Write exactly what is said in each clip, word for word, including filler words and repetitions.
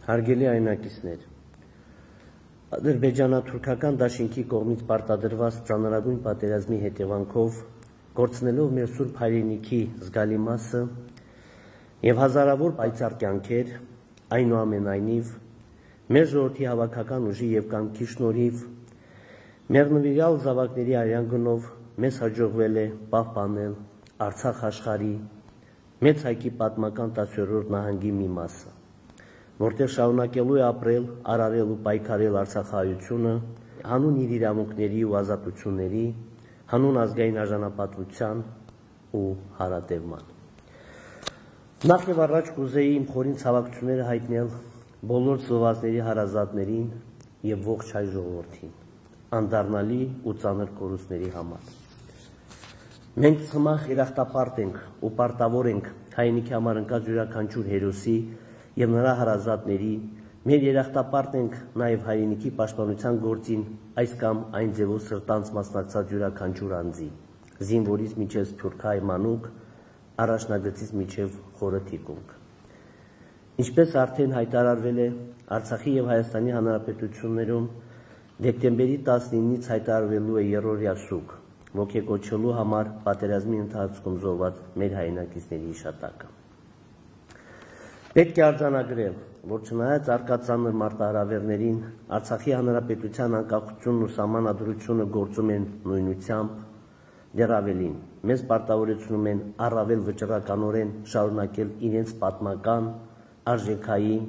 Հարգելի այնակիցներ, ադրբեջանա-թուրքական դաշինքի կողմից պարտադրված ծանրագույն պատերազմի հետևանքով կորցնելով մեր սուրբ հայրենիքի զգալի մասը եւ հազարավոր պայծառ կյանքեր, այնուամենայնիվ մեր ժողովրդի հավաքական ուժի եւ կամքի շնորհիվ մեր նվիրյալ զավակների արյան գնով մեզ հաջողվել է պահպանել Արցախ աշխարհի մեծ հայքի պատմական տասնյոթերորդ նահանգի մի մասը, որտեղ շարունակելու է ապրել, արարել ու պայքարել արցախահայությունը հանուն իր իրավունքների ու ազատությունների, հանուն ազգային արժանապատվության ու հարատևման։ Նախ եւ առաջ կուզեի իմ խորին ցավակցությունները հայտնել բոլոր զոհվածների հարազատներին եւ ողջ հայ ժողովրդին, անդառնալի ու ծանր կորուստների համար։ Մենք ցմահ երախտապարտ ենք ու պարտավոր ենք հայրենիքի համար ընկած յուրաքանչյուր հերոսի եւ նրա հարազատների, մեր երախտապարտ ենք նաեւ հայրենիքի պաշտպանության գործին այս կամ այն ձևով սրտանց մասնակցած յուրաքանչյուր անձի, զինվորից մինչեւ սփյուռքահայ մանուկ, առաջնագծից մինչեւ խորը թիկունք։ Ինչպես արդեն հայտարարվել է, Արցախի եւ Հայաստանի Հանրապետություններում դեկտեմբերի տասնինից հայտարարվելու է երրորդյա սուգ, ոգեկոչելու համար պատերազմի ընթացքում զոհված մեր հայրենակիցների հիշատակը։ Պետք է արձանագրել, որ չնայած առկա ծանր մարտահրավերներին, Արցախի Հանրապետության անկախությունն ու սահմանադրությունը գործում են նույնությամբ, դեռ ավելին, մեզ պարտավորեցնում են առավել վճռականորեն շարունակել իրենց պատմական, արժեքային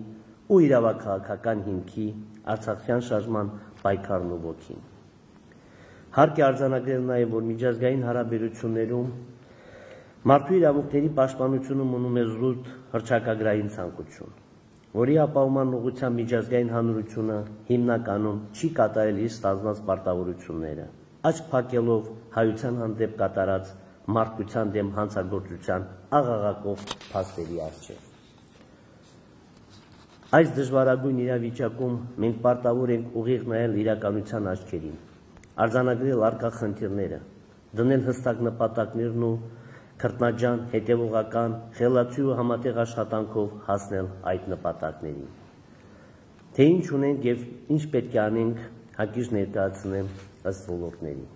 ու իրավաքաղաքական հիմքի արցախյան շարժման պայքարն ու ոգին։ Հարկ է արձանագրել նաև, որ միջազգային հարաբերություններում մարդու իրավունքների պաշտպանությունը մնում է զուտ հռչակագրային ցանկություն, որի ապահովման ուղղությամբ միջազգային հանրությունը հիմնականում չի կատարել իր ստանձնած պարտավորությունները, աչք փակելով հայության հանդեպ կատարած մարդկության դեմ հանցագործության աղաղակող փաստերի առջև։ Այս դժվարագույն իրավիճակում մենք պարտավոր ենք ուղիղ նայել իրականության աչքերին, արձանագրել առկա խնդիրները, դնել հստակ նպատակներն ու քրտնաջան, հետևողական, խելացի ու համատեղ աշխատանքով հասնել այդ նպատակներին։ Թե ինչ ունենք եւ ինչ պետք է անենք, հակիրճ ներկայացնեմ ըստ ոլորտների։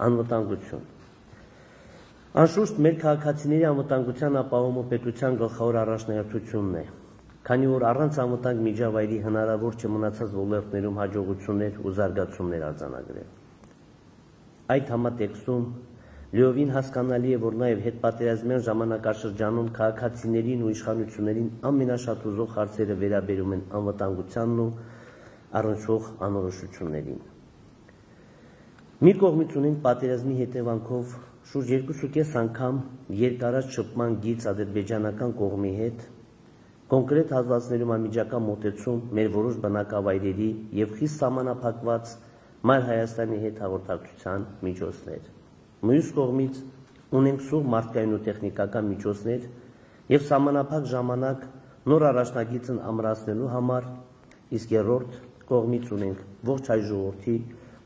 Անվտանգություն։ Անշուշտ մեր քաղաքացիների անվտանգության ապահովումը պետության գլխավոր առաջնահերթությունն է, քանի որ առանց անվտանգ միջավայրի հնարավոր չէ մնացած ոլորտներում հաջողություններ ու զարգացումներ արձանագրել։ Այդ համատեքստում լիովին հասկանալի է, որ նաև հետպատերազմյան ժամանակաշրջանում քաղաքացիներին ու իշխանություններին ամենաշատ ուզող հարցերը վերաբերում են անվտանգությանն ու առնչվող անորոշություններին։ Մի կողմից ունենք պատերազմի հետևանքով շուրջ երկուսուկես անգամ երկարած շփման գիծ ադրբեջանական կողմի հետ, կոնկրետ հատվածներում անմիջական մոտեցում մեր որոշ բնակավայրերի եւ խիստ սահմանափակված Մայր Հայաստանի հետ հաղորդակցության միջոցներ։ Մյուս կողմից ունենք սուղ մարդկային ու տեխնիկական միջոցներ եւ սահմանափակ ժամանակ նոր առաջնագիծն ամրացնելու համար, իսկ երրորդ կողմից ունենք ողջ հայ ժողովրդի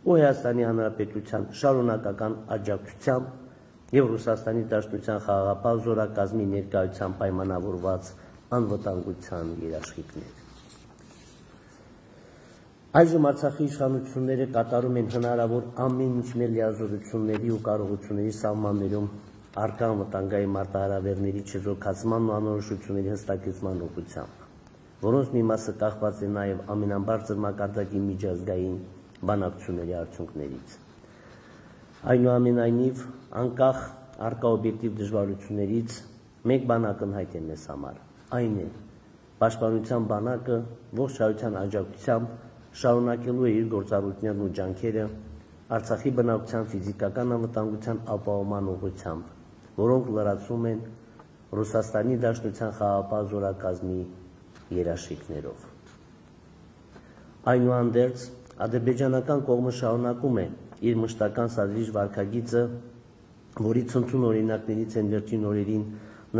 ու Հայաստանի Հանրապետության շարունակական աջակցությամբ եւ Ռուսաստանի Դաշնության խաղաղապահ զորակազմի ներկայությամբ պայմանավորված անվտանգության երաշխիքներ։ Այժմ Արցախի իշխանությունները կատարում են հնարավոր ամեն ինչ մեր լիազորությունների ու կարողությունների սահմաններում առկա անվտանգային մարտահրավերների չեզոքացման ու անորոշությունների հստակեցման ուղղությամբ, որոնց մի մասը կախված է նաև ամենաբարձր մակարդակի միջազգային բանակցությունների արդյունքներից։ Այնուամենայնիվ, անկախ առկա օբյեկտիվ դժվարություններից մեկ բան ակնհայտ է մեզ համար, այն է, պաշտպանության բանակը ողջ հայության աջակցությամբ շարունակելու է իր գործառույթներն ու ջանքերը Արցախի բնակության ֆիզիկական անվտանգության ապահովման ուղղությամբ, որոնք լրացում են Ռուսաստանի Դաշնության խաղաղապահ զորակազմի երաշխիքներով։ Այնուհանդերձ, ադրբեջանական կողմը շարունակում է իր մշտական սադրիչ վարքագիծը, որի ցնցուն օրինակներից են վերջին օրերին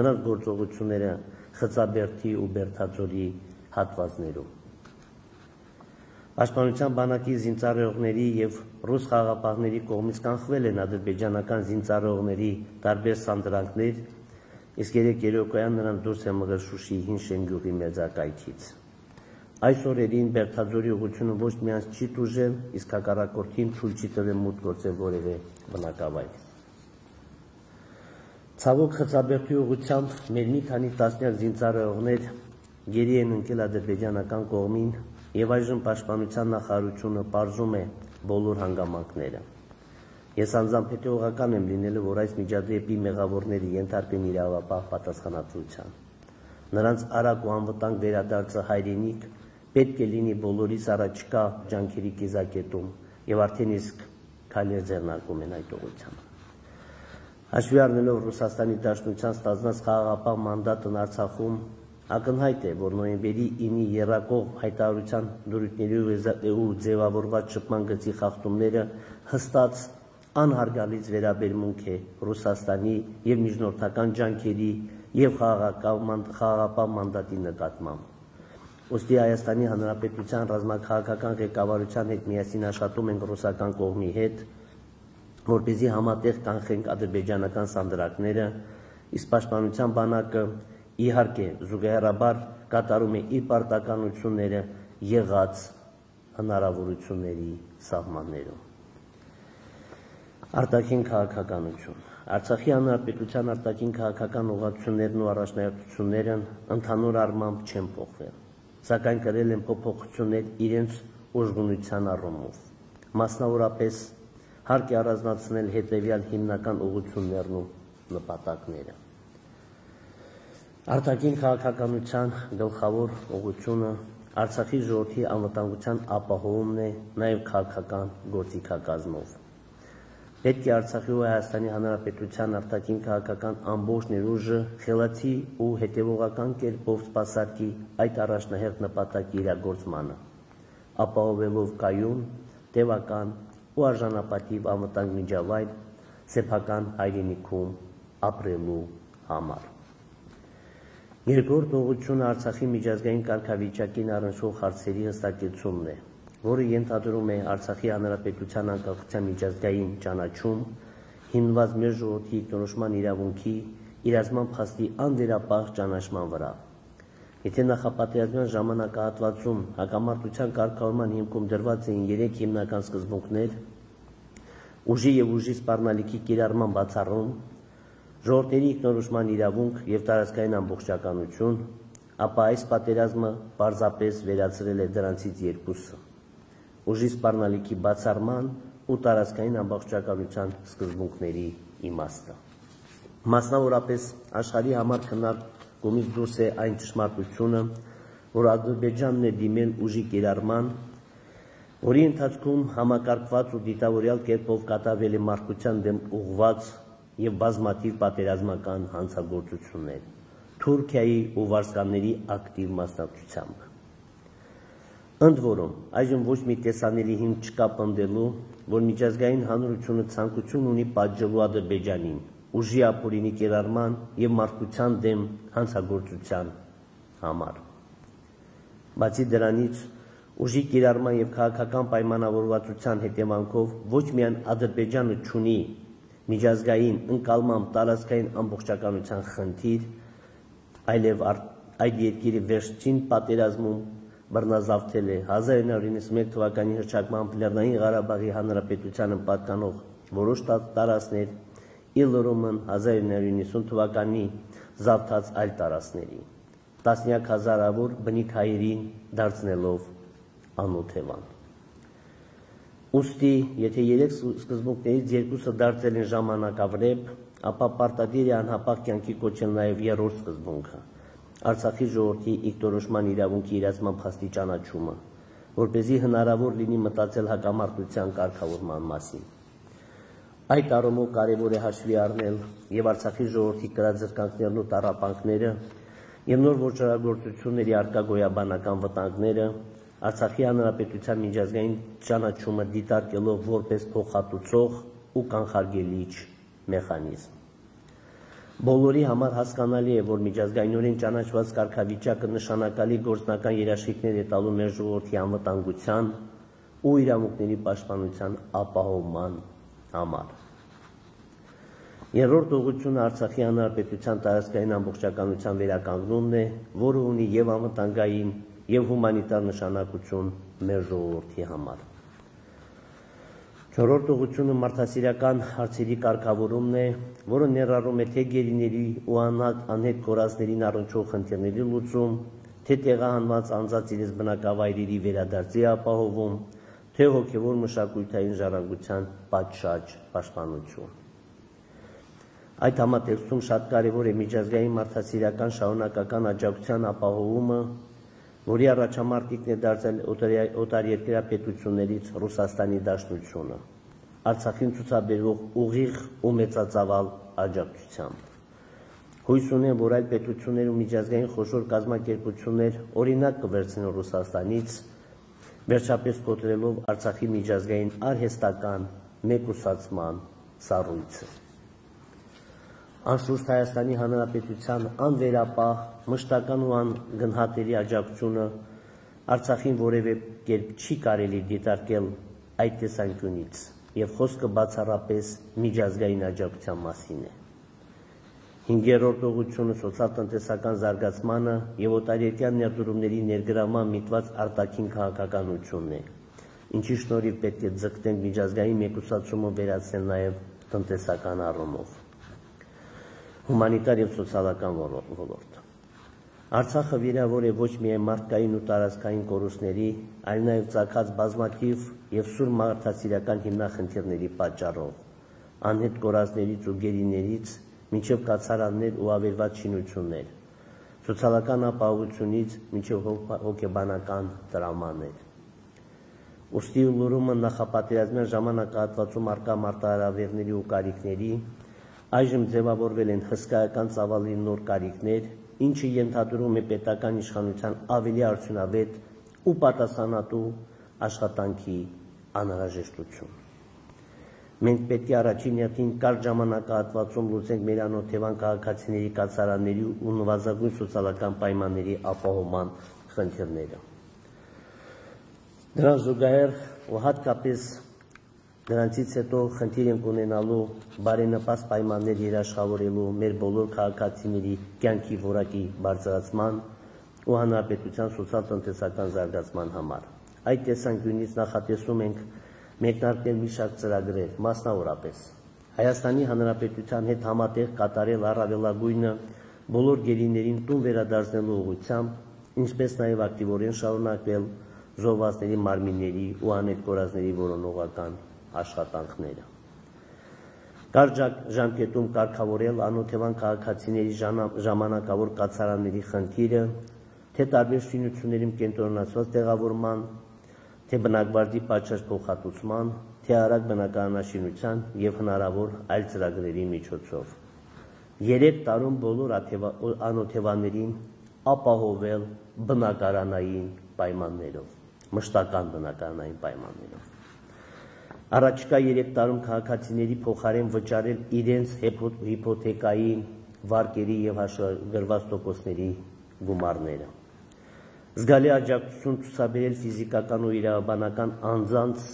նրանց գործողությունները Խծաբերդի ու Բերդաձորի հատվածներում։ Պաշտպանության բանակի զինծառայողների եւ ռուս խաղաղապահների կողմից կանխվել են ադրբեջանական զինծառայողների տարբեր սանդրանքներ իսկ երեք երեկոյան նրանց դուրս է մղել Շուշիի հին Շենգյուղի մեծակայքից։ Այս օրերին Բերդաձորի ուղղությունը ոչ միայն չի տուժել, իսկ հակառակորդին թույլ չի տվել մուտք գործել որևէ բնակավայր։ Ցավոք Խծաբերդի ուղղությամբ մեր մի քանի տասնյակ զինծառայողներ գերի են ընկել ադրբեջանական կողմին եւ այժմ պաշտպանության նախարարությունը պարզում է բոլոր հանգամանքները։ Ես անձամբ հետևողական եմ լինելու, որ այս միջադեպի մեղավորները ենթարկվեն իրավապահ պատասխանատվության։ Նրանց արագ ու անվտանգ վերադարձը հայրենիք պետք է լինի բոլորիս առաջկա ջանքերի կիզակետում եւ արդեն իսկ քայլեր ձեռնարկում են այդ ուղղությամբ։ Հաշվի առնելով Ռուսաստանի Դաշնության ստանձնած խաղաղապահ մանդատն Արցախում, ակնհայտ է, որ նոյեմբերի ինի եռակող հայտարարության դրույթների ու ձևավորված շփման գծի խախտումները հստակ անհարգալից վերաբերմունք է Ռուսաստանի եւ միջնորդական ջանքերի եւ խաղաղապահ մանդատի նկատմամբ։ Ոստի Հայաստանի Հանրապետության ռազմաքաղաքական ղեկավարության հետ միասին աշխատում ենք ռուսական կողմի հետ, որպեսզի համատեղ կանխենք ադրբեջանական սանդրակները, իսկ պաշտպանության բանակը իհարկե զուգահեռաբար կատարում է իր պարտականությունները եղած հնարավորությունների սահմաններում։ Արտաքին քաղաքականություն։ Արցախի Հանրապետության արտաքին քաղաքական ուղղություններն ու առաջնահերթությունները ընդհանուր առմամբ չեն փոխվել, սակայն կրել են փոփոխություններ իրենց ուժգնության առումով։ Մասնավորապես հարկ է առանձնացնել հետևյալ հիմնական ուղղություններն ու նպատակները։ Արտաքին քաղաքականության գլխավոր ուղղությունը Արցախի ժողովրդի անվտանգության ապահովումն է, նաև քաղաքական գործիքակազմով։ Պետք է Արցախի ու Հայաստանի Հանրապետության արտաքին քաղաքական ամբողջ ներուժը խելացի ու հետևողական կերպով սպասարկի այդ առաջնահերթ նպատակի իրագործմանը, ապահովելով կայուն, տևական ու արժանապատիվ անվտանգ միջավայր սեփական հայրենիքում ապրելու համար։ Երկրորդ ուղղությունը Արցախի միջազգային կարգավիճակին առնչվող հարցերի հստակեցումն է, որը ենթադրում է Արցախի Հանրապետության անկախության միջազգային ճանաչում, հիմնված մեր ժողովրդի ինքնորոշման իրավունքի իրացման փաստի անվերապահ ճանաչման վրա։ Եթե նախապատերազմյան ժամանակահատվածում հակամարտության կարգավորման հիմքում դրված էին երեք հիմնական սկզբունքներ՝ ուժի եւ ուժի սպառնալիքի կիրառման բացառում, ժողովրդների ինքնորոշման իրավունք եւ տարածքային ամբողջականություն, ապա այս պատերազմը պարզապես վերացրել է դրանցից երկուսը՝ ուժի սպառնալիքի բացառման ու տարածքային ամբողջականության սկզբունքների իմաստը։ Մասնավորապես աշխարհի համար քննարկումից դուրս է այն ճշմարտությունը, որ Ադրբեջանն է դիմել ուժի կիրառման, որի ընթացքում համակարգված ու դիտավորյալ կերպով կատարվել է մարդկության դեմ ուղղված եւ բազմաթիվ պատերազմական հանցագործություններ Թուրքիայի ու վարձկանների ակտիվ մասնակցությամբ։ Ընդ որում, այժմ ոչ մի տեսանելի հիմք չկա պնդելու, որ միջազգային հանրությունը ցանկություն ունի պատժելու Ադրբեջանին ուժի ապօրինի կիրառման եւ մարդկության դեմ հանցագործության համար։ Բացի դրանից, ուժի կիրառման եւ քաղաքական պայմանավորվածության հետևանքով ոչ միայն Ադրբեջանը չունի միջազգային ընկալման տարածքային ամբողջականության խնդիր, այլև այդ երկիրը վերջին պատերազմում բռնազավթել է հազար իննսուն իննսունմեկ թվականի հռչակմամբ Լեռնային Ղարաբաղի Հանրապետությանը պատկանող որոշ տարածքներ, ի լրումն հազար իննսուն իննսուն թվականի զավթած այլ տարածքների, տասնյակ հազարավոր բնիկ հայերին դարձնելով անօթևան։ Ուստի, եթե երեք սկզբունքներից երկուսը դարձել են ժամանակավրեպ, ապա պարտադիր է անհապաղ կյանքի կոչել նաև երրորդ սկզբունքը՝ Արցախի ժողովրդի ինքնորոշման իրավունքի իրացման փաստի ճանաչումը, որպեսզի հնարավոր լինի մտածել հակամարտության կարգավորման մասին։ Այդ առումով կարևոր է հաշվի առնել եւ Արցախի ժողովրդի կրած զրկանքներն ու տառապանքները եւ նոր ոչռագործությունների արկա գոյաբանական վտանգները, Արցախի Հանրապետության միջազգային ճանաչումը դիտարկելով որպես փոխհատուցող ու կանխարգելիչ մեխանիզմ։ Բոլորի համար հասկանալի է, որ միջազգայինորեն ճանաչված կարգավիճակը նշանակալի գործնական երաշխիքներ է տալու մեր ժողովրդի անվտանգության ու իրավունքների պաշտպանության ապահովման համար։ Երրորդ ուղղությունը Արցախի Հանրապետության տարածքային ամբողջականության վերականգնումն է, որը ունի եւ անվտանգային եւ հումանիտար նշանակություն մեր ժողովրդի համար։ Չորրորդ ուղղությունը մարդասիրական հարցերի կարգավորումն է, որը ներառում է թե գերիների ու անհետ կորածներին առնչվող խնդիրների լուծում, թե տեղահանված անձանց իրենց բնակավայրերի վերադարձի ապահովում, թե հոգևոր մշակութային ժառանգության պատշաճ պաշտպանություն։ Այդ համատեքստում շատ կարևոր է միջազգային մարդասիրական շարունակական աջակցության ապահովումը, որի առաջամարտիկն է դարձել օտարերկրյա պետություններից Ռուսաստանի Դաշնությունը, Արցախին ցուցաբերվող ուղիղ ու մեծածավալ աջակցությամբ։ Հույս ունեմ, որ այլ պետություններ ու միջազգային խոշոր կազմակերպություններ օրինակ կվերցնեն Ռուսաստանից, վերջապես կոտրելով Արցախի միջազգային արհեստական մեկուսացման սառույցը։ Անշուշտ Հայաստանի Հանրապետության անվերապահ, մշտական ու անգնահատելի աջակցությունը Արցախին որևէ կերպ չի կարելի դիտարկել այդ տեսանկյունից, եւ խոսքը բացառապես միջազգային աջակցության մասին է։ Հինգերորդ ուղղությունը սոցիալ-տնտեսական զարգացմանը եւ օտարերկրյա ներդրումների ներգրավման միտված արտաքին քաղաքականությունն է, ինչի շնորհիվ պետք է ձգտենք միջազգային մեկուսացումը վերացնել նաեւ տնտեսական առումով։ Հումանիտար եւ սոցիալական ոլորտ։ Արցախը վիրավոր է ոչ միայն մարդկային ու տարածքային կորուստների, այլ նաեւ ծագած բազմաթիվ եւ սուր մարդասիրական հիմնախնդիրների պատճառով, անհետ կորածներից ու գերիներից մինչև կացարաններ ու ավերված շինություններ, սոցիալական ապահովությունից մինչև հոգեբանական տրավմաներ։ Ուստի լուրումը նախապատերազմյան ժամանակահատվածում առկա մարտահրավերների ու կարիքների այժմ ձևավորվել են հսկայական ծավալի նոր կարիքներ, ինչը ենթադրում է պետական իշխանության ավելի արդյունավետ ու պատասխանատու աշխատանքի անհրաժեշտություն։ Մենք պետք է առաջին հերթին կարճ ժամանակահատվածում լուծենք մեր անօթևան քաղաքացիների կացարանների ու նվազագույն սոցիալական պայմանների ապահովման խնդիրները։ Դրան զուգահեռ ու հատկապես դրանցից հետո խնդիր ենք ունենալու բարենպաստ պայմաններ երաշխավորելու մեր բոլոր քաղաքացիների կյանքի որակի բարձրացման ու հանրապետության սոցիալ-տնտեսական զարգացման համար։ Այդ տեսանկյունից նախատեսում ենք մեկնարկել մի շարք ծրագրեր, մասնավորապես Հայաստանի Հանրապետության հետ համատեղ կատարել առավելագույնը բոլոր գերիներին տուն վերադարձնելու ուղղությամբ, ինչպես նաև ակտիվորեն շարունակվել զոհվածների մարմինների ու անհետ կորածների որոնողական աշխատանքները։ Կարճ ժամկետում կարգավորել անօթևան քաղաքացիների ժամանակավոր կացարանների խնդիրը, թե տարբեր շինություններում կենտրոնացված տեղավորման, թե բնակվարձի պատշաճ փոխհատուցման, թե արագ բնակարանաշինության եւ հնարավոր այլ ծրագրերի միջոցով։ Երեք տարում բոլոր անօթևաներին ապահովել բնակարանային պայմաններով, մշտական բնակարանային պայմաններով։ Առաջիկա երեք տարում քաղաքացիների փոխարեն վճարել իրենց հիփոթեկայի վարկերի եւ հաշվագրված տոկոսների գումարները։ Զգալի աջակցություն ցուցաբերել ֆիզիկական ու իրավաբանական անձանց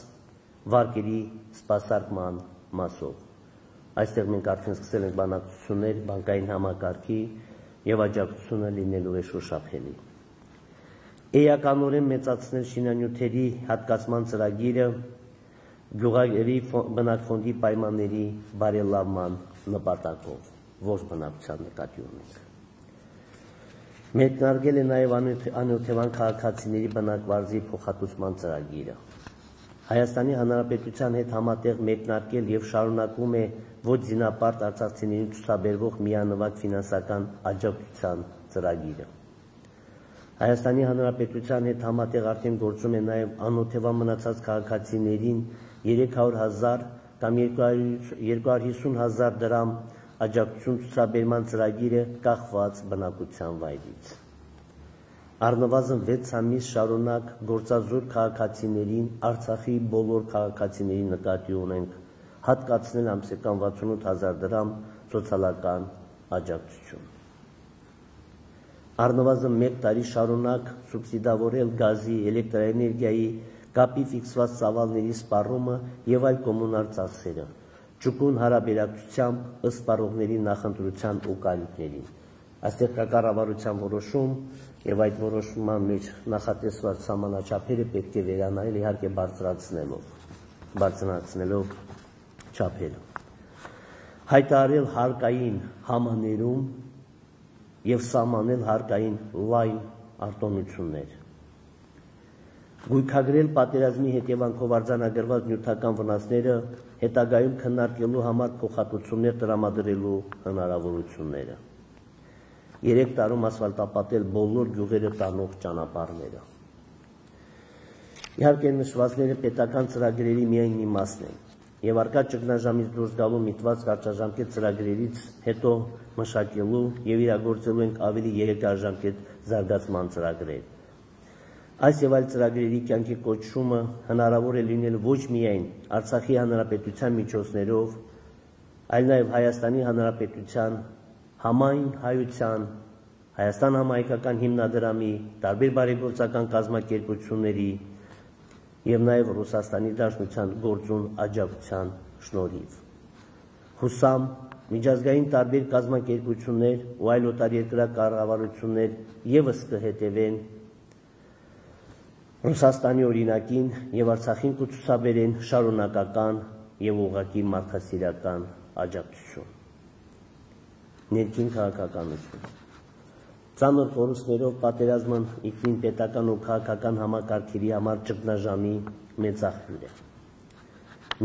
վարկերի սպասարկման մասով։ Այստեղ մենք արդեն սկսել ենք բանակցություններ բանկային համակարգի եւ աջակցությունը լինելու է շոշափելի։ Էականորեն մեծացնել շինանյութերի հատկացման ծրագիրը գյուղերի բնակֆոնդի պայմանների բարելավման նպատակով, ոչ բնակության նկատի ունենք։ Մեկնարկել է նաև անօթևան քաղաքացիների բնակվարձի փոխհատուցման ծրագիրը։ Հայաստանի Հանրապետության հետ համատեղ մեկնարկել եւ շարունակվում է ոչ զինապարտ արցախցիներին ցուցաբերվող միանվագ ֆինանսական աջակցության ծրագիրը։ Հայաստանի Հանրապետության հետ համատեղ արդեն գործում է նաև անօթևան մնացած քաղաքացիներին երեք հարյուր հազար կամ երկու հարյուր հիսուն հազար դրամ աջակցություն ցուցաբերման ծրագիրը կախված բնակության վայրից։ Առնվազն վեց ամիս շարունակ գործազուրկ քաղաքացիներին Արցախի բոլոր քաղաքացիների նկատի ունենք հատկացնել ամսական վաթսունութ հազար դրամ սոցիալական աջակցություն։ Առնվազն մեկ տարի շարունակ սուբսիդավորել գազի, էլեկտրաէներգիայի, կապի ֆիքսված ծավալների սպառումը եւ այլ կոմունալ ծախսերը, ճկուն հարաբերակցությամբ ըստ պարողների նախընտրության ու կարիքներին։ Այստեղ կա կառավարության որոշում եւ այդ որոշման մեջ նախատեսված սահմանաչափերը պետք է վերանայել, իհարկե բարձրացնելով, բարձրացնելով չափերը։ Հայտարարել հարկային համաներում եւ սահմանել հարկային լայն արտոնություններ։ Գույքագրել պատերազմի հետևանքով արձանագրված նյութական վնասները հետագայում քննարկելու համար փոխհատուցումներ տրամադրելու հնարավորությունները։ Երեք տարում ասֆալտապատել բոլոր գյուղերը տանող ճանապարհները։ Իհարկե նշվածները պետական ծրագրերի միայն մի մասն են, եւ արկա ճգնաժամից դուրս գալու միտված կարճաժամկետ ծրագրերից հետո մշակելու եւ իրագործելու ենք ավելի երկարաժամկետ զարգացման ծրագրեր։ Այս եւ այլ ծրագրերի կյանքի կոչումը հնարավոր է լինել ոչ միայն Արցախի Հանրապետության միջոցներով, այլ նաեւ Հայաստանի Հանրապետության համայն հայության, Հայաստան համահայկական հիմնադրամի, տարբեր բարեգործական կազմակերպությունների եւ նաեւ Ռուսաստանի Դաշնության գործուն աջակցության շնորհիվ։ Հուսամ միջազգային տարբեր կազմակերպություններ ու այլ օտարերկրյա կառավարություններ եւս կհետևեն Ռուսաստանի օրինակին եւ Արցախին կցուցաբերեն շարունակական եւ ուղղակի մարդասիրական աջակցություն։ Ներքին քաղաքականություն։ Ծանր կորուստներով պատերազմն ինքնին պետական ու քաղաքական համակարգերի համար ճգնաժամի մեծ աղբյուր է։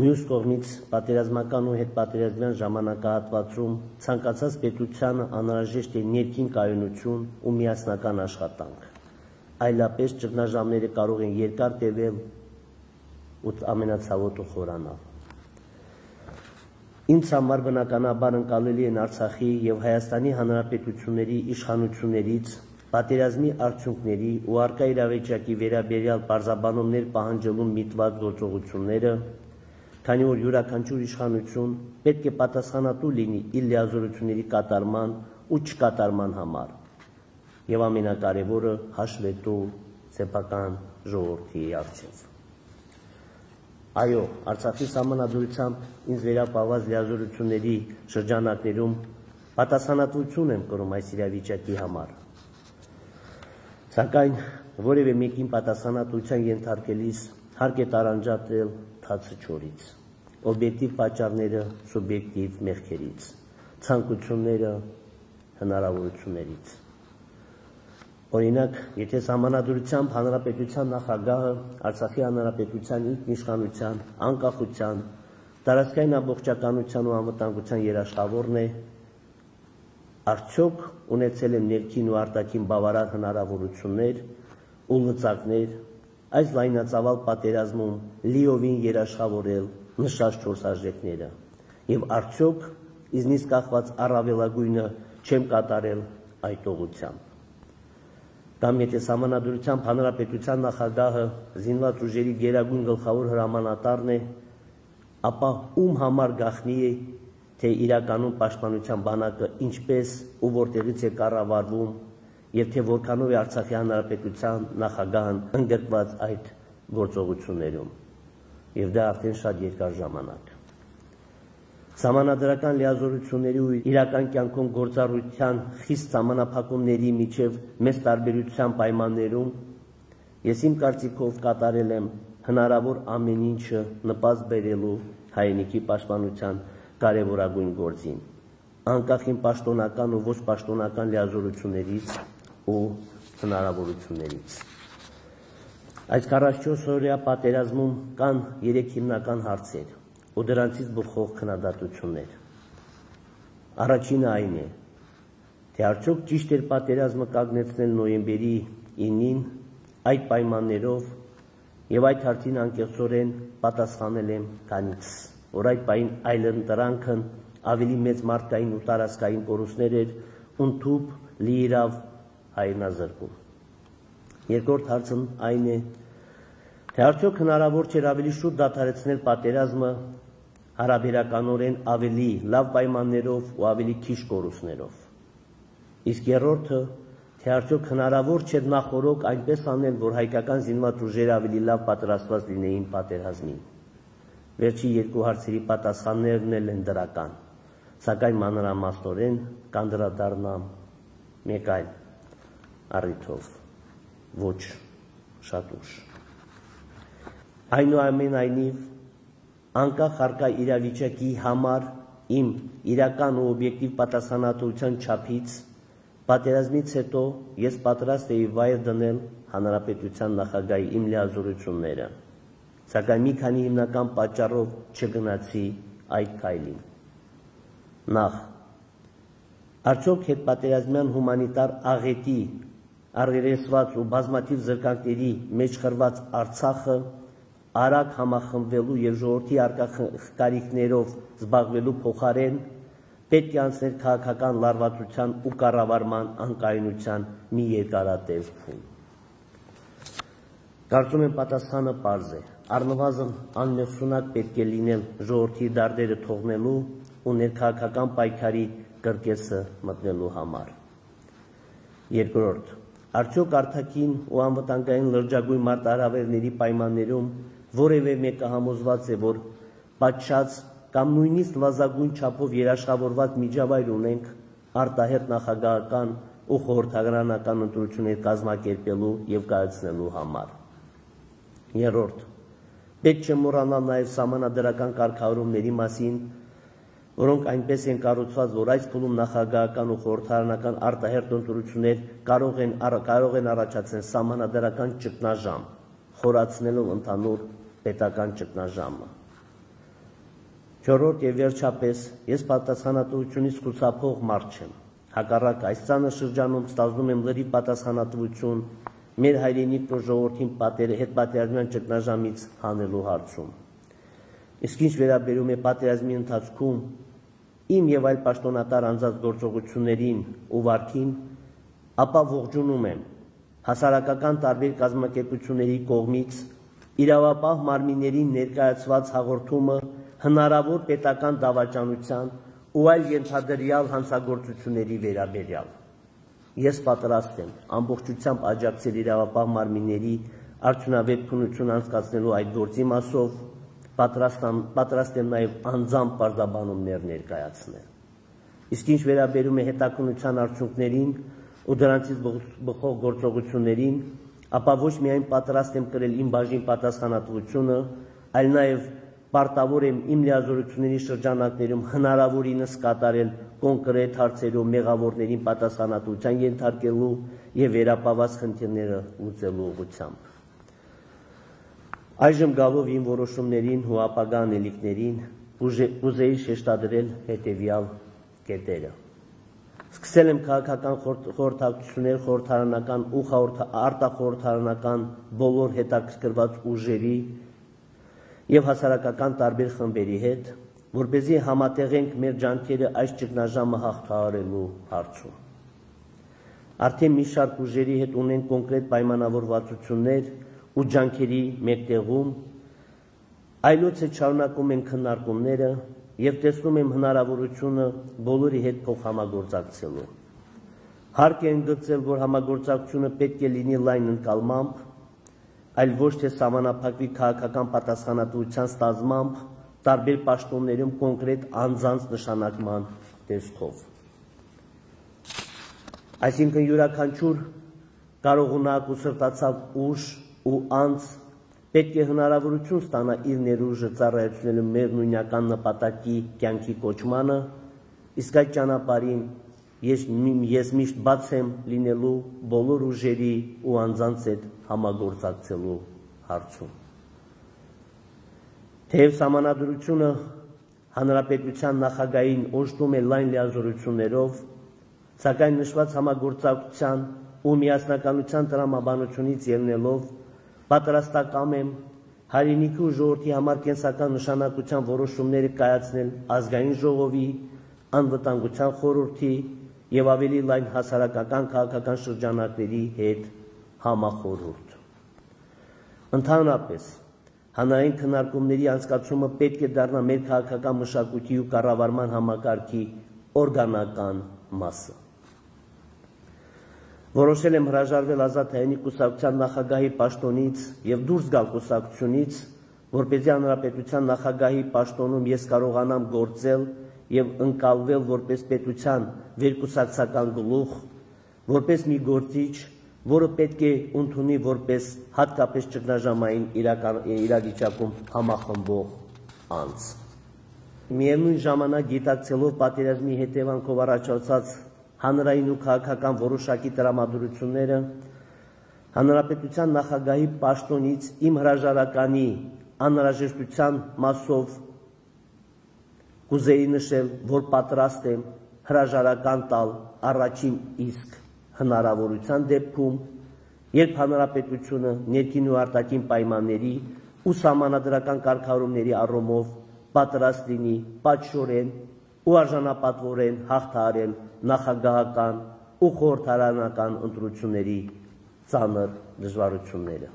Մյուս կողմից պատերազմական ու հետպատերազմյան ժամանակահատվածում ցանկացած պետությանը անհրաժեշտ է ներքին կայունություն ու միասնական աշխատանք։ Այլապես ճգնաժամերը կարող են երկար տևել ու ամենացավոտը խորանալ։ Ինձ համար բնականաբար ընկալելի են Արցախի եւ Հայաստանի Հանրապետությունների իշխանություններից պատերազմի արդյունքների ու առկա իրավիճակի վերաբերյալ պարզաբանումներ պահանջելու միտված գործողությունները, քանի որ յուրաքանչյուր իշխանություն պետք է պատասխանատու լինի իր լիազորությունների կատարման ու չկատարման համար եւ ամենակարևորը հաշվետու սեփական ժողովրդի առջեւ։ Այո, Արցախի սահմանադրությամբ ինձ վերապահված լիազորությունների շրջանակներում պատասխանատվություն եմ կրում այս իրավիճակի համար։ Սակայն որևէ մեկին պատասխանատվության ենթարկելիս հարկ է տարանջատել թացը չորից, օբյեկտիվ պատճառները սուբյեկտիվ մեղքերից, ցանկությունները հնարավորություններից։ Օրինակ, եթե սահմանադրությամբ հանրապետության նախագահը Արցախի հանրապետության ինքնիշխանության, անկախության, տարածքային ամբողջականության ու անվտանգության երաշխավորն է, արդյոք ունեցել են ներքին ու արտաքին բավարար հնարավորություններ ու լծակներ այս լայնածավալ պատերազմում լիովին երաշխավորել նշած չորս արժեքները, եւ արդյոք իզնից կախված առավելագույնը չեմ կատարել այդ ուղղությամբ։ Կամ եթե սահմանադրությամբ հանրապետության նախագահը զինված ուժերի գերագույն գլխավոր հրամանատարն է, ապա ում համար գաղտնի է, թե իրականում պաշտպանության բանակը ինչպես ու որտեղից է կառավարվում եւ թե որքանով է Արցախի հանրապետության նախագահն ընդգրկված այդ գործողություններում, եւ դա արդեն շատ երկար ժամանակ։ Սահմանադրական լիազորությունների ու իրական կյանքում գործառույթյան խիստ սահմանափակումների միջև մեծ տարբերության պայմաններում ես իմ կարծիքով կատարել եմ հնարավոր ամեն ինչը նպաստ բերելու հայրենիքի պաշտպանության կարևորագույն գործին, անկախ իմ պաշտոնական ու ոչ պաշտոնական լիազորություններից ու հնարավորություններից։ Այս քառասունչորս օրյա պատերազմում կան երեք հիմնական հարցեր ու դրանցից բխող քննադատություններ։ Առաջինը այն է, թե արդյոք ճիշտ էր պատերազմը կանգնեցնել նոյեմբերի ինին այդ պայմաններով եւ այդ հարցին անկեղծորեն պատասխանել եմ քանից, որ այդ պայն այլընտրանքն ավելի մեծ մարդկային ու տարածքային կորուստներ էր ընդཐུպ լիիրավ հայրենազրկում։ Երկրորդ հարցն այն է, թե արդյոք հնարավոր չէր ավելի շուտ դադարեցնել պատերազմը հարաբերականորեն ավելի լավ պայմաններով ու ավելի քիչ կորուստներով։ Իսկ երրորդը, թե արդյոք հնարավոր չէր նախօրոք այնպես անել, որ հայկական զինված ուժերը ավելի լավ պատրաստված լինեին պատերազմին։ Վերջի երկու հարցերի պատասխաններն էլ են դրական, սակայն մանրամասնորեն կանդրադառնամ մեկ այլ առիթով, ոչ շատ ուշ։ Այնուամենայնիվ, անկախ առկա իրավիճակի համար իմ իրական ու օբյեկտիվ պատասխանատվության չափից, պատերազմից հետո ես պատրաստ էի վայր դնել հանրապետության նախագահի իմ լիազորությունները, սակայն մի քանի հիմնական պատճառով չգնացի այդ քայլին։ Նախ, արդյոք հետպատերազմյան հումանիտար աղետի, առերեսված ու բազմաթիվ զրկանքների մեջ խրված Արցախը արագ համախմբվելու և ժողովրդի առկա կարիքներով զբաղվելու փոխարեն պետք է անցներ քաղաքական լարվածության ու կառավարման անկայունության մի երկարատև փուլ։ Կարծում եմ պատասխանը պարզ է, առնվազն անմեղսունակ պետք է լինել ժողովրդի դարդերը թողնելու ու ներքաղաքական պայքարի կրկեսը մտնելու համար։ Երկրորդ, արդյոք արտաքին ու անվտանգային լրջագույն մարտահրավերների պայմաններում որևէ մեկը համոզված է, որ պատշաճ կամ նույնիսկ նվազագույն չափով երաշխավորված միջավայր ունենք արտահերթ նախագահական ու խորհրդարանական ընտրություններ կազմակերպելու և կայացնելու համար։ Երրորդ, պետք չէ մոռանալ նաև սահմանադրական կարգավորումների մասին, որոնք այնպես են կառուցված, որ այս փուլում նախագահական ու խորհրդարանական արտահերթ ընտրություններ կարող են, կարող են առաջացնել սահմանադրական ճգնաժամ, խորացնելով ընդհանուր պետական ճգնաժամը։ Չորրորդ և վերջապես, ես պատասխանատվությունից խուսափող մարդ չեմ, հակառակ այս ծանր շրջանում ստանձնում եմ լրիվ պատասխանատվություն մեր հայրենիքն ու ժողովրդին հետպատերազմյան ճգնաժամից հանելու հարցում։ Իսկ ինչ վերաբերում է պատերազմի ընթացքում իմ և այլ պաշտոնատար անձանց գործողություններին ու վարքին, ապա ողջունում եմ հասարակական տարբեր կազմակերպությունների կողմից իրավապահ մարմիններին ներկայացված հաղորդումը հնարավոր պետական դավաճանության ու այլ ենթադրյալ հանցագործությունների վերաբերյալ։ Ես պատրաստ եմ ամբողջությամբ աջակցել իրավապահ մարմինների արդյունավետ քննություն անցկացնելու այդ գործի մասով, պատրաստ եմ նաև անձամբ պարզաբանումներ ներկայացնել։ Իսկ ինչ վերաբերում է հետաքննության արդյունքներին ու դրանցից բխող գործողություններին, ապա ոչ միայն պատրաստ եմ կրել իմ բաժին պատասխանատվությունը, այլ նաև պարտավոր եմ իմ լիազորությունների շրջանակներում հնարավորինս կատարել կոնկրետ հարցերով մեղավորներին պատասխանատվության ենթարկելու և վերապահված խնդիրները լուծելու ուղղությամբ։ Այժմ գալով իմ որոշումներին ու ապագա անելիքներին կուզեի շեշտադրել հետևյալ կետերը։ Սկսել եմ քաղաքական խորհրդակցություններ խորհրդարանական ու արտախորհրդարանական բոլոր հետաքրքրված ուժերի և հասարակական տարբեր խմբերի հետ, որպեսզի համատեղենք մեր ջանքերը այս ճգնաժամը հաղթահարելու հարցում։ Արդեն մի շարք ուժերի հետ ունենք կոնկրետ պայմանավորվածություններ ու ջանքերի մեկտեղում, այլոց հետ շարունակում ենք քննարկումները և տեսնում եմ հնարավորությունը բոլորի հետ փոխհամագործակցելու։ Հարկ է ընդգծել, որ համագործակցությունը պետք է լինի լայն ընկալմամբ, այլ ոչ թե սահմանափակվի քաղաքական պատասխանատվության ստանձնմամբ տարբեր պաշտոններում կոնկրետ անձանց նշանակման տեսքով։ Այսինքն յուրաքանչյուր կարողունակ ու սրտացավ ուժ ու անձ պետք է հնարավորություն ստանա իր ներուժը ծառայեցնելու մեր նույնական նպատակի կյանքի կոչմանը, իսկ այդ ճանապարհին ես, ես միշտ բաց եմ լինելու բոլոր ուժերի ու անձանց հետ համագործակցելու հարցում։ Թեև սահմանադրությունը հանրապետության նախագահին օժտում է լայն լիազորություններով, սակայն նշված համագործակցության ու միասնականության տրամաբանությունից ելնելով պատրաստակամ եմ հայրենիքի ու ժողովրդի համար կենսական նշանակության որոշումները կայացնել ազգային ժողովի, անվտանգության խորհրդի և ավելի լայն հասարակական քաղաքական շրջանակների հետ համախորհուրդ։ Ընդհանրապես, հանրային քննարկումների անցկացումը պետք է դառնա մեր քաղաքական մշակույթի ու կառավարման համակարգի օրգանական մասը։ Որոշել եմ հրաժարվել Ազատ հայերենի կուսակցության նախագահի պաշտոնից և դուրս գալ կուսակցությունից, որպեսզի հանրապետության նախագահի պաշտոնում ես կարողանամ գործել եւ ընկալվել որպես պետության վերկուսակցական գլուխ, որպես մի գործիչ, որը պետք է ընդունի որպես հատկապես ճգնաժամային իրավիճակում համախմբող անձ։ Միևնույն ժամանակ գիտակցելով պատերազմի հետևանքով առաջացած հանրային ու քաղաքական որոշակի տրամադրությունները, հանրապետության նախագահի պաշտոնից իմ հրաժարականի անհրաժեշտության մասով կուզեի նշել, որ պատրաստ եմ հրաժարական տալ առաջին իսկ հնարավորության դեպքում, երբ հանրապետությունը ներքին ու արտաքին պայմանների ու սահմանադրական կարգավորումների առումով պատրաստ լինի պատշորեն ու արժանապատվորեն հաղթահարել նախագահական ու խորհրդարանական ընտրությունների ծանր դժվարությունները։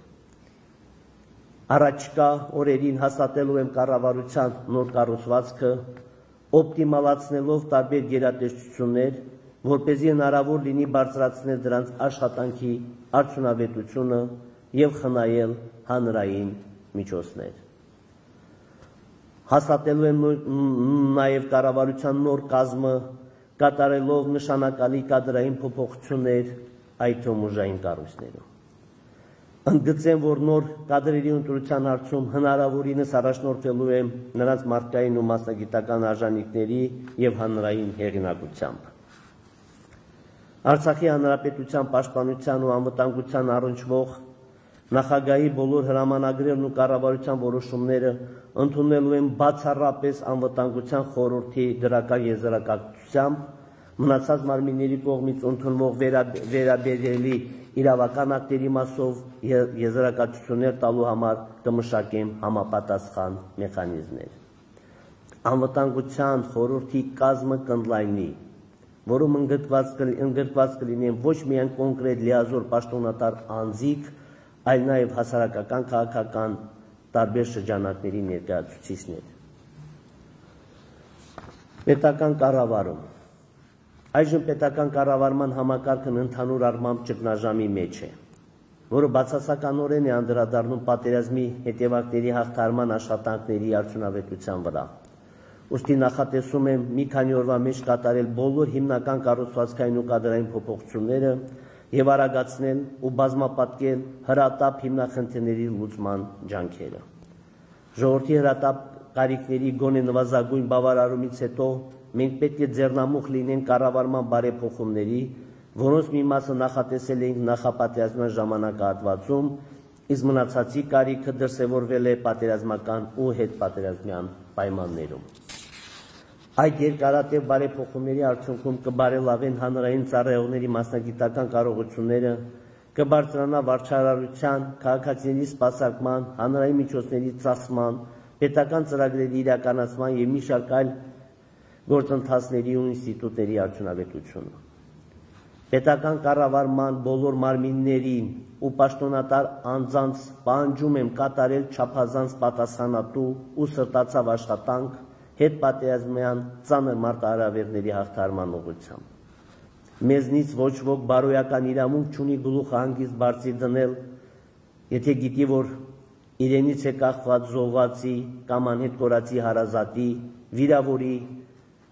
Առաջկա օրերին հաստատելու եմ կառավարության նոր կառուցվածքը, օպտիմալացնելով տարբեր գերատեսչություններ, որպեսզի հնարավոր լինի բարձրացնել դրանց աշխատանքի արդյունավետությունը եւ խնայել հանրային միջոցներ։ Հաստատելու եմ նաեւ կառավարության նոր կազմը, կատարելով նշանակալի կադրային փոփոխություններ, այդ թվում ուժային կառույցներում։ Ընդգծեմ, որ նոր կադրերի ընտրության հարցում հնարավորինս առաջնորդվելու եմ նրանց մարդկային ու մասնագիտական արժանինքների եւ հանրային հեղինակությամբ։ Արցախի հանրապետության պաշտպանության ու անվտանգության առնչվող նախագահի բոլոր հրամանագրերն ու կառավարության որոշումները ընդունելու եմ բացառապես անվտանգության խորհրդի դրական եզրակացությամբ, մնացած մարմինների կողմից ընդունվող վերաբերելի իրավական ակտերի մասով եզրակացություններ տալու համար կմշակեմ համապատասխան մեխանիզմներ։ Անվտանգության խորհրդի կազմը կընդլայնի, որում ընդգրկված կլինեն ոչ միայն կոնկրետ լիազոր պաշտոնատար անձիկ, այլ նաև հասարակական քաղաքական տարբեր շրջանակների ներկայացուցիչներ։ Պետական կառավարում։ Այժմ պետական կառավարման համակարգն ընդհանուր առմամբ ճգնաժամի մեջ է, որը բացասականորեն է անդրադառնում պատերազմի հետևանքների հաղթահարման աշխատանքների արդյունավետության վրա։ Ուստի նախատեսում եմ մի քանի օրվա մեջ կատարել բոլոր հիմնական կառուցվածքային ու կադրային փոփոխությունները եւ արագացնել ու բազմապատկել հրատապ հիմնախնդիրների լուծման ջանքերը։ Ժողովրդի հրատապ կարիքների գոնե նվազագույն բավարարումից հետո մենք պետք է ձեռնամուխ լինենք կառավարման բարեփոխումների, որոնց մի մասը նախատեսել էինք նախապատերազմյան ժամանակահատվածում, իսկ մնացածի կարիքը դրսևորվել է պատերազմական ու հետպատերազմյան պայմաններում։ Այդ երկարատև բարեփոխումների արդյունքում կբարելավեն հանրային ծառայողների մասնագիտական կարողությունները, կբարձրանա վարչարարության, քաղաքացիների սպասարկման, հանրային միջոցների ծախսման, պետական ծրագրերի իրականացման եւ մի շարք այլ գործընթացների ու ինստիտուտների արդյունավետությունը։ Պետական կառավարման բոլոր մարմիններին ու պաշտոնատար անձանց պահանջում եմ կատարել չափազանց պատասխանատու ու սրտացավ աշխատանք հետպատերազմյան ծանր մարտահրավերների հաղթահարման ուղղությամբ։ Մեզնից ոչ ոք բարոյական իրավունք չունի գլուխը հանգիստ բարձի դնել, եթե գիտի, որ իրենից է կախված զոհվածի կամ անհետ կորածի հարազատի, վիրավորի,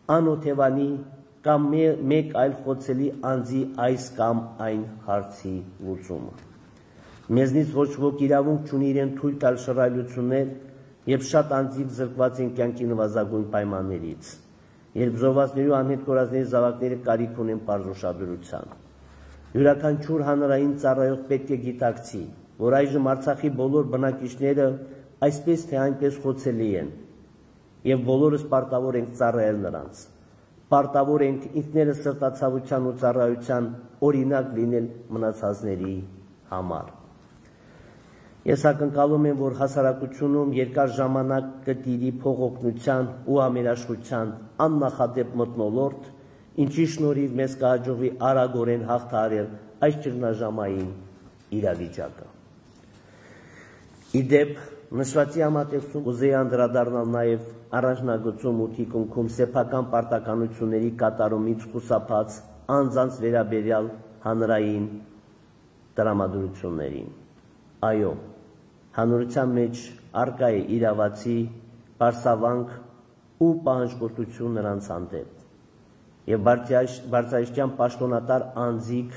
անօթևանի կամ մեկ այլ խոցելի անձի այս կամ այն հարցի լուծումը։ Մեզնից ոչ ոք իրավունք չունի իրեն թույլ տալ շռայլություններ, երբ շատ անձիկ զրկված են կյանքի նվազագույն պայմաններից, երբ զոհվածների ու անհետ կորածների զավակները կարիք ունեն պարզուշադրության։ Յուրաքանչյուր հանրային ծառայող պետք է գիտակցի, որ այժմ Արցախի բոլոր բնակիչները այսպես թե այնպես խոցելի են, եւ բոլորս պարտավոր ենք ծառայել նրանց։ Պարտավոր ենք ինքներս սրտացավության ու ծառայության օրինակ լինել մնացածների համար։ Ես ակնկալում եմ, որ հասարակությունում երկար ժամանակ կտիրի փողօգնության ու ամերաշխության աննախադեպ մթնոլորտ, ինչի շնորհիվ մեզ կհաջողվի արագորեն հաղթահարել այս ճգնաժամային իրավիճակը։ Իդեպ, նշվածի համատեքստում կուզեի անդրադառնալ նաև առաջնագծում ու թիկունքում սեփական պարտականությունների կատարումից խուսափած անձանց վերաբերյալ հանրային տրամադրություններին։ Այո, հանրության մեջ արկա է իրավացի, պարսավանք ու պահանջկոտություն նրանց հանդեպ եւ բարձրաստիճան պաշտոնատար անձիկ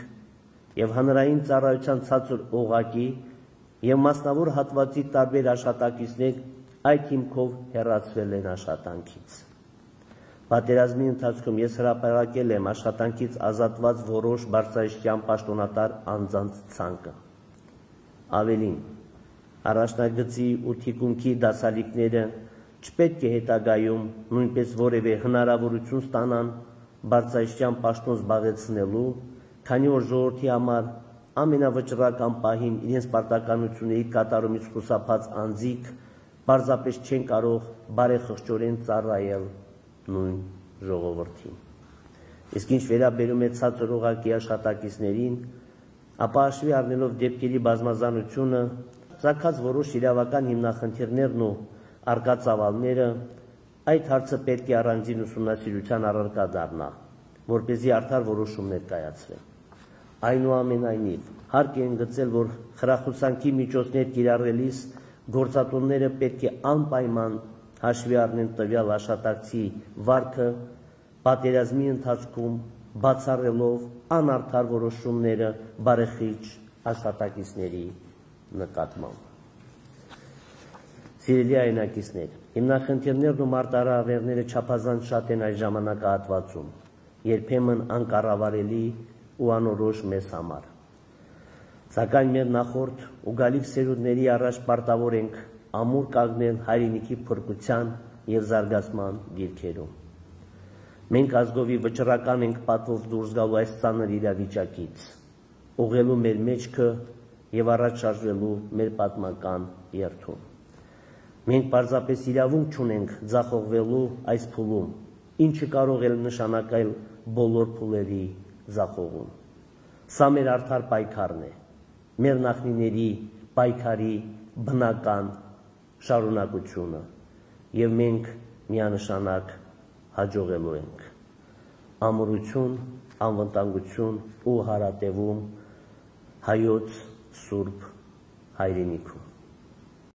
եւ հանրային ծառայության ցածր օղակի եւ մասնավոր հատվածի տարբեր աշխատակիցներ այդ հիմքով հեռացվել են աշխատանքից։ Պատերազմի ընթացքում ես հրապարակել եմ աշխատանքից ազատված որոշ բարձրաստիճան պաշտոնատար անձանց ցանկը։ Ավելին, առաջնագծի ու թիկունքի դասալիկները չպետք է հետագայում նույնպես որևէ հնարավորություն ստանան բարձրաստիճան պաշտոն զբաղեցնելու, քանի որ ժողովրդի համար ամենավճռական պահին իրենց պարտականությունների կատարումից խուսափած անձիկ պարզապես չեն կարող բարեխղճորեն ծառայել նույն ժողովրդին։ Իսկ ինչ վերաբերում է ցածր օղակի աշխատակիցներին, ապա հաշվի առնելով դեպքերի բազմազանությունը, ծագած որոշ իրավական հիմնախնդիրներն ու առկա ծավալները, այդ հարցը պետք է առանձին ուսումնասիրության առարկա դառնա, որպեսզի արդար որոշումներ կայացվեն։ Այնուամենայնիվ, հարկ է ընդգծել, որ խրախուսանքի միջոցներ կիրառելիս գործատուները պետք է անպայման հաշվի առնեն տվյալ աշխատակցի վարքը, պատերազմի ընթացքում բացառելով անարդար որոշումները բարեխիղճ աշխատակիցների նկատմամբ։ Սիրելի հայրենակիցներ, հիմնախնդիրներն ու մարտահրավերները չափազանց շատ են այս ժամանակահատվածում, երբեմն անկառավարելի ու անորոշ մեզ համար։ Սակայն մեր նախորդ ու գալիք սերունդների առաջ պարտավոր ենք ամուր կանգնել հայրենիքի փրկության եւ զարգացման դիրքերում։ Մենք ազգովի վճռական ենք պատվով դուրս գալու այս ծանր իրավիճակից, ուղղելու մեր մեջքը եւ առաջ շարժվելու մեր պատմական երթում։ Մենք պարզապես իրավունք չունենք ձախողվելու այս փուլում, ինչը կարող է նշանակել բոլոր փուլերի ձախողում։ Սա մեր արդար պայքարն է, մեր նախնիների պայքարի բնական շարունակությունը, եւ մենք միանշանակ հաջողելու ենք։ Ամրություն, անվտանգություն ու հարատևում հայոց սուրբ հայրենիքում։